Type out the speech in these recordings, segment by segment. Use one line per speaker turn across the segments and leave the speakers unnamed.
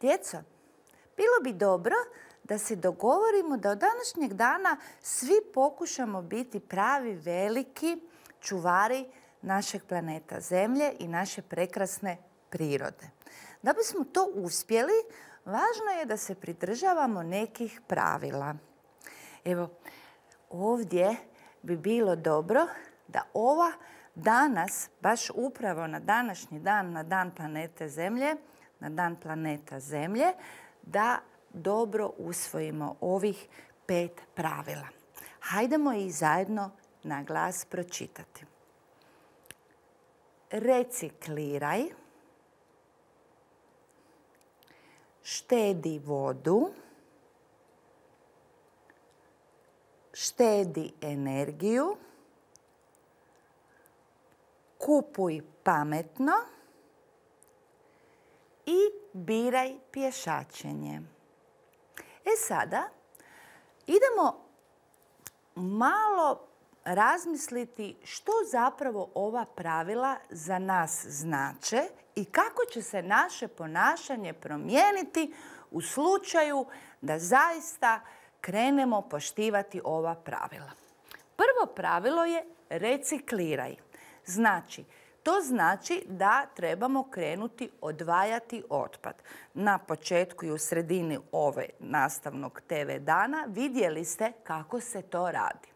Djeco, bilo bi dobro da se dogovorimo da od današnjeg dana svi pokušamo biti pravi veliki čuvari našeg planeta Zemlje i naše prekrasne prirode. Da bismo to uspjeli, važno je da se pridržavamo nekih pravila. Evo, ovdje bi bilo dobro da ova danas, baš upravo na današnji dan, na dan planeta Zemlje, da dobro usvojimo ovih 5 pravila. Hajdemo ih zajedno na glas pročitati. Recikliraj, štedi vodu, štedi energiju, kupuj pametno i biraj pješačenje. Sada idemo malo razmisliti što zapravo ova pravila za nas znače i kako će se naše ponašanje promijeniti u slučaju da zaista krenemo poštivati ova pravila. Prvo pravilo je recikliraj. To znači da trebamo krenuti odvajati otpad. Na početku i u sredini ove nastavnog TV dana vidjeli ste kako se to radi.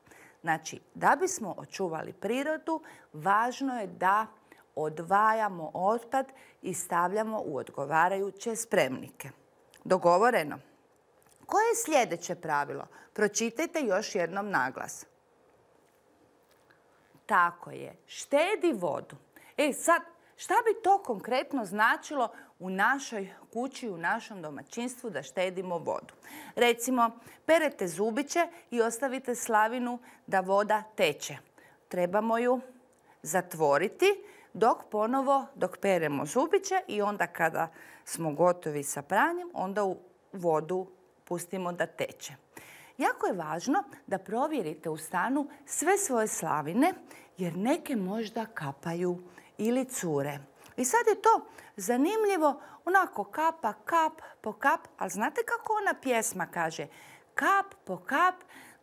Da bismo očuvali prirodu, važno je da odvajamo otpad i stavljamo u odgovarajuće spremnike. Dogovoreno? Koje je sljedeće pravilo? Pročitajte još jednom naglas. Tako je, štedi vodu. Sad, šta bi to konkretno značilo u našoj kući, u našem domaćinstvu da štedimo vodu? Recimo, perete zubiće i ostavite slavinu da voda teče. Trebamo ju zatvoriti dok peremo zubiće i onda kada smo gotovi sa pranjem, onda u vodu pustimo da teče. Jako je važno da provjerite u stanu sve svoje slavine jer neke možda kapaju ili cure. I sad je to zanimljivo, onako kapa, kap po kap, ali znate kako ona pjesma kaže? Kap po kap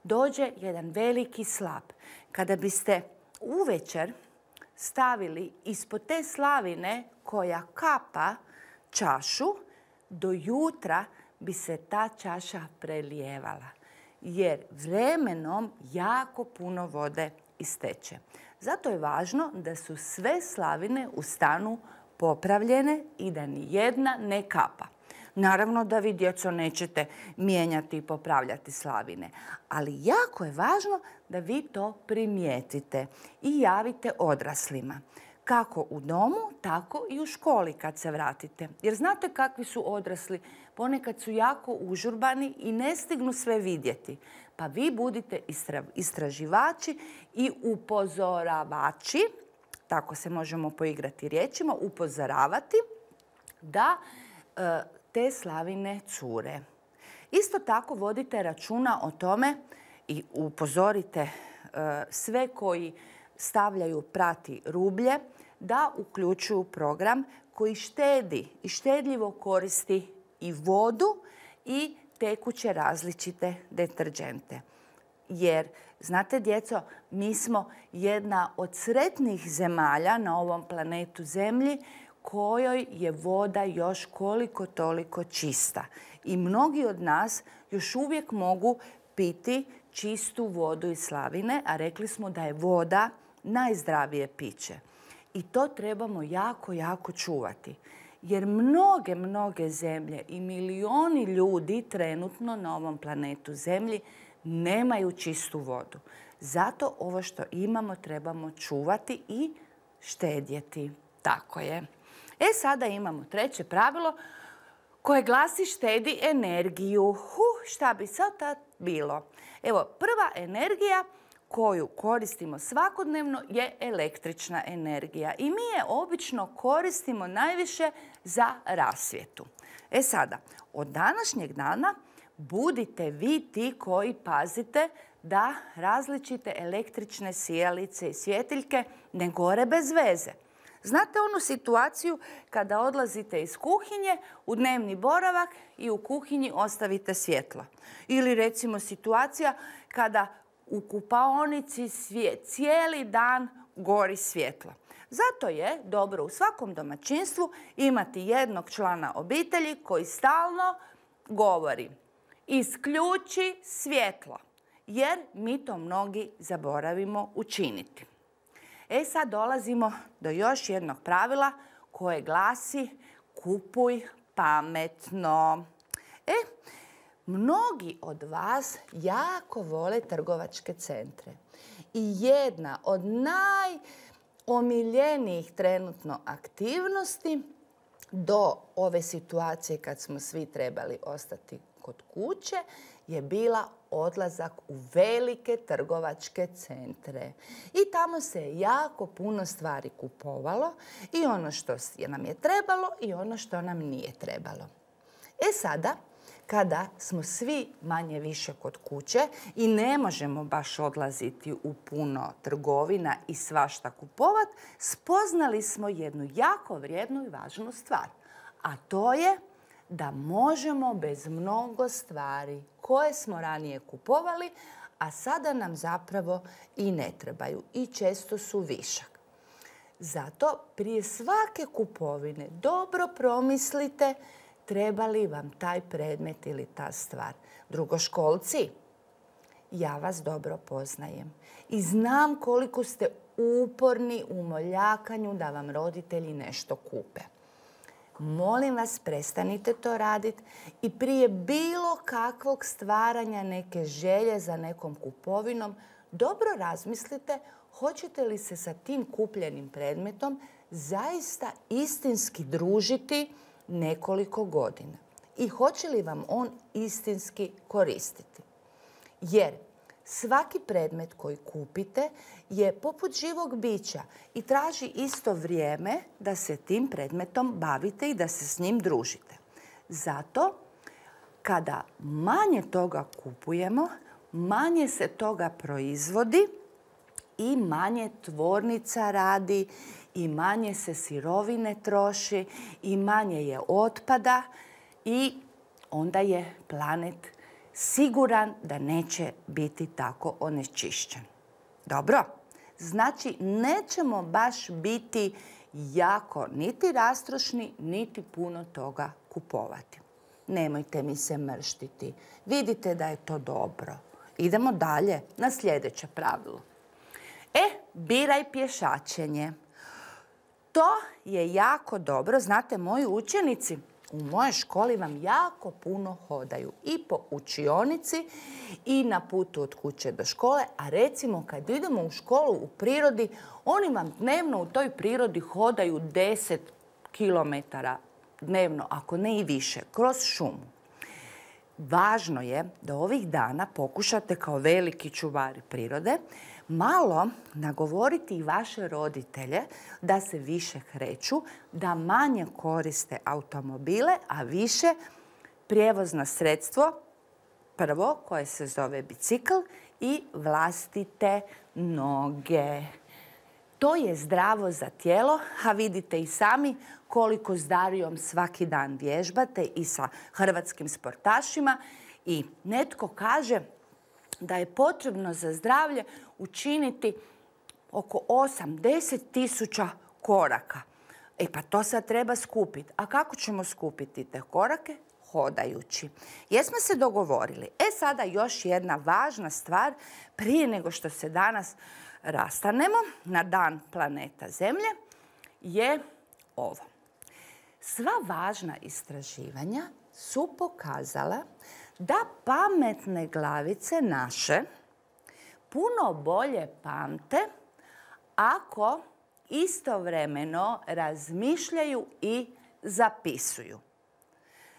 dođe jedan veliki slap. Kada biste uvečer stavili ispod te slavine koja kapa čašu, do jutra bi se ta čaša prelijevala. Jer vremenom jako puno vode isteče. Zato je važno da su sve slavine u stanu popravljene i da ni jedna ne kapa. Naravno da vi, djeco, nećete mijenjati i popravljati slavine, ali jako je važno da vi to primijetite i javite odraslima. Kako u domu, tako i u školi kad se vratite. Jer znate kakvi su odrasli? Ponekad su jako užurbani i ne stignu sve vidjeti. Pa vi budite istraživači i upozoravači, tako se možemo poigrati riječima, upozoravati da te slavine cure. Isto tako vodite računa o tome i upozorite sve koji stavljaju prati rublje da uključuju program koji štedi i štedljivo koristi i vodu i tekuće različite deterdžente. Jer, znate, djeco, mi smo jedna od sretnih zemalja na ovom planetu Zemlji kojoj je voda još koliko toliko čista. I mnogi od nas još uvijek mogu piti čistu vodu iz slavine, a rekli smo da je voda najzdravije piće. I to trebamo jako, jako čuvati. Jer mnoge zemlje i milioni ljudi trenutno na ovom planetu Zemlji nemaju čistu vodu. Zato ovo što imamo trebamo čuvati i štedjeti. Tako je. Sada imamo treće pravilo koje glasi štedi energiju. Šta bi sad tad bilo? Evo, prva energija koju koristimo svakodnevno je električna energija. I mi je obično koristimo najviše za rasvjetu. Sada, od današnjeg dana budite vi ti koji pazite da različite električne sijalice i svjetiljke ne gore bez veze. Znate onu situaciju kada odlazite iz kuhinje u dnevni boravak i u kuhinji ostavite svjetlo? Ili recimo situacija kada u kupaonici cijeli dan gori svjetlo. Zato je dobro u svakom domaćinstvu imati jednog člana obitelji koji stalno govori: isključi svjetlo, jer mi to mnogi zaboravimo učiniti. Sad dolazimo do još jednog pravila koje glasi: kupuj pametno. Mnogi od vas jako vole trgovačke centre. I jedna od najomiljenijih trenutno aktivnosti do ove situacije kad smo svi trebali ostati kod kuće je bila odlazak u velike trgovačke centre. I tamo se jako puno stvari kupovalo, i ono što nam je trebalo i ono što nam nije trebalo. Sada, kada smo svi manje više kod kuće i ne možemo baš odlaziti u puno trgovina i svašta kupovat, spoznali smo jednu jako vrijednu i važnu stvar. A to je da možemo bez mnogo stvari koje smo ranije kupovali, a sada nam zapravo i ne trebaju i često su višak. Zato prije svake kupovine dobro promislite treba li vam taj predmet ili ta stvar. Drugoškolci, ja vas dobro poznajem i znam koliko ste uporni u moljakanju da vam roditelji nešto kupe. Molim vas, prestanite to raditi i prije bilo kakvog stvaranja neke želje za nekom kupovinom, dobro razmislite hoćete li se sa tim kupljenim predmetom zaista istinski družiti nekoliko godina i hoće li vam on istinski koristiti. Jer svaki predmet koji kupite je poput živog bića i traži isto vrijeme da se tim predmetom bavite i da se s njim družite. Zato, kada manje toga kupujemo, manje se toga proizvodi i manje tvornica radi i manje se sirovine troši i manje je otpada i onda je planet siguran da neće biti tako onečišćen. Dobro, znači nećemo baš biti jako niti rastrošni, niti puno toga kupovati. Nemojte mi se mrštiti. Vidite da je to dobro. Idemo dalje na sljedeće pravilo. Biraj pješačenje. To je jako dobro. Znate, moji učenici u mojoj školi vam jako puno hodaju i po učionici i na putu od kuće do škole, a recimo kad idemo u školu u prirodi, oni vam dnevno u toj prirodi hodaju 10 km dnevno, ako ne i više, kroz šumu. Važno je da ovih dana pokušate kao veliki čuvari prirode malo nagovoriti i vaše roditelje da se više kreću, da manje koriste automobile, a više prijevozno sredstvo, prvo koje se zove bicikl, i vlastite noge. To je zdravo za tijelo, a vidite i sami koliko s Darijom svaki dan vježbate i sa hrvatskim sportašima. I netko kaže da je potrebno za zdravlje učiniti oko 8-10 tisuća koraka. Pa to sad treba skupiti. A kako ćemo skupiti te korake? Hodajući. Jesmo se dogovorili? Sada još jedna važna stvar prije nego što se danas rastanemo na dan planeta Zemlje je ovo. Sva važna istraživanja su pokazala da pametne glavice naše puno bolje pamte ako istovremeno razmišljaju i zapisuju.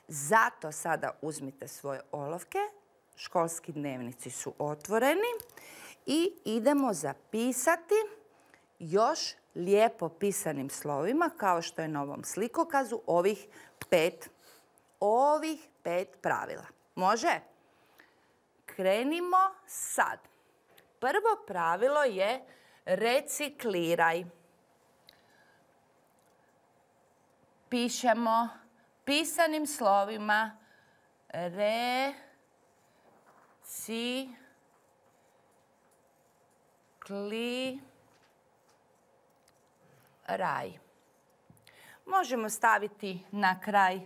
Zato sada uzmite svoje olovke, školski dnevnici su otvoreni i idemo zapisati još lijepo pisanim slovima, kao što je na ovom slikokazu, ovih pet pravila. Može? Krenimo sad. Prvo pravilo je recikliraj. pišemo pisanim slovima recikliraj. Možemo staviti na kraj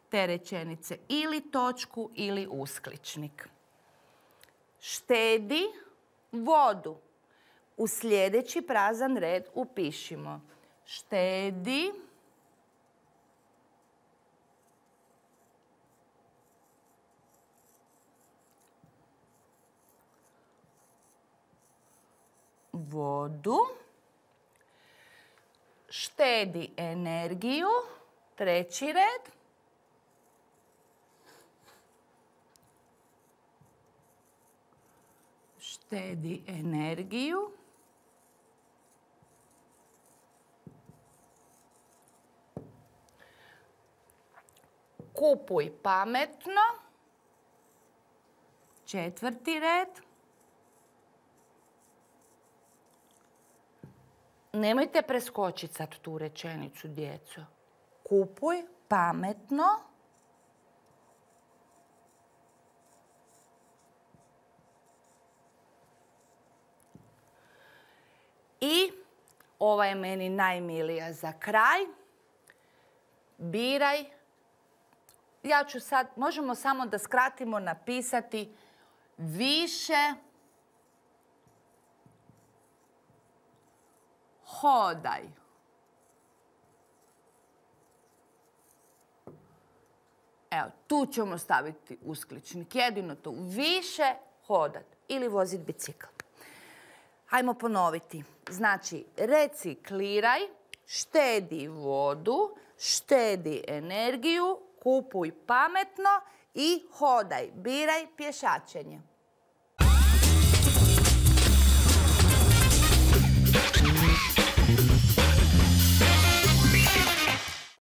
te rečenice ili točku ili uskličnik. Štedi vodu. U sljedeći prazan red upišimo štedi vodu. Štedi energiju. Treći red. Štedi energiju. Kupuj pametno. Četvrti red. Nemojte preskočiti sad tu rečenicu, djeco. Kupuj pametno. I ova je meni najmilija za kraj. Biraj. Ja ću sad, možemo samo da skratimo, napisati više hodaj. Evo, tu ćemo staviti uskličnik. Jedino tu. Više hodat ili voziti bicikl. Hajmo ponoviti. Znači, recikliraj, štedi vodu, štedi energiju, kupuj pametno i hodaj, biraj pješačenje.